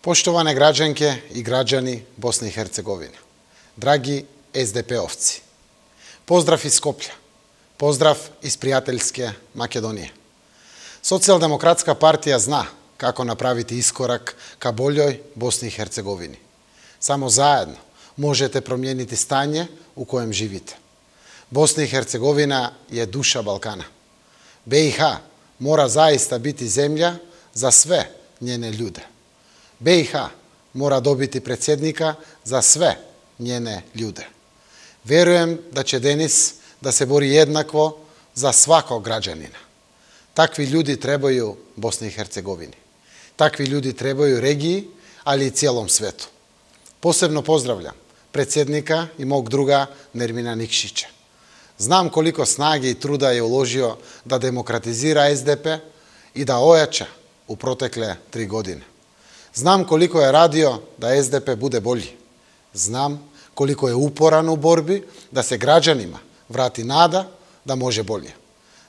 Poštovane građanke i građani Bosne i Hercegovine, dragi SDP-ovci, pozdrav iz Skoplja, pozdrav iz prijateljske Makedonije. Socijaldemokratska partija zna kako napraviti iskorak ka boljoj Bosni i Hercegovini. Samo zajedno možete promijeniti stanje u kojem živite. Bosna i Hercegovina je duša Balkana. BiH mora zaista biti zemlja za sve njene ljude. BiH mora dobiti predsjednika za sve njene ljude. Vjerujem da će Denis da se bori jednako za svakog građanina. Takvi ljudi trebaju Bosni i Hercegovini. Takvi ljudi trebaju regiji, ali i cijelom svetu. Posebno pozdravljam predsjednika i mog druga Nermina Nikšića. Znam koliko snage i truda je uložio da demokratizira SDP i da ojača u protekle 3 godine. Znam koliko je radio da SDP bude bolji. Znam koliko je uporan u borbi da se građanima vrati nada da može bolje.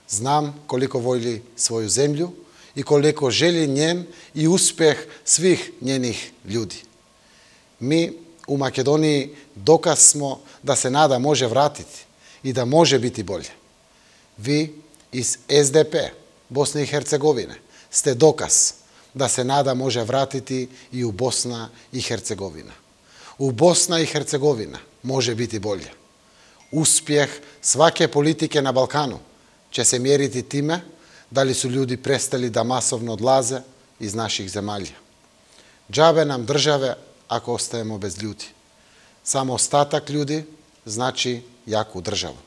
Znam koliko voli svoju zemlju i koliko želi njen i uspjeh svih njenih ljudi. Mi u Makedoniji dokaz smo da se nada može vratiti i da može biti bolje. Vi iz SDP Bosne i Hercegovine ste dokaz da se nada može vratiti i u Bosna i Hercegovina. U Bosna i Hercegovina može biti bolje. Uspjeh svake politike na Balkanu će se mjeriti time da li su ljudi prestali da masovno odlaze iz naših zemalja. Džabe nam države ako ostajemo bez ljudi. Samo ostatak ljudi znači jaku državu.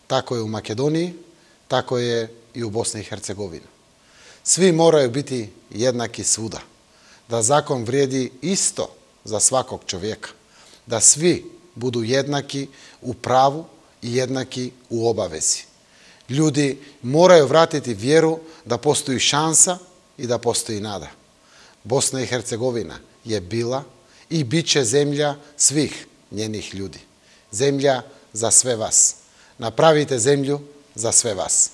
Tako je u Makedoniji, tako je i u Bosni i Hercegovini. Svi moraju biti jednaki svuda. Da zakon vrijedi isto za svakog čovjeka. Da svi budu jednaki u pravu i jednaki u obavezi. Ljudi moraju vratiti vjeru da postoji šansa i da postoji nada. Bosna i Hercegovina je bila i bit će zemlja svih njenih ljudi. Zemlja za sve vas. Napravite zemlju za sve vas.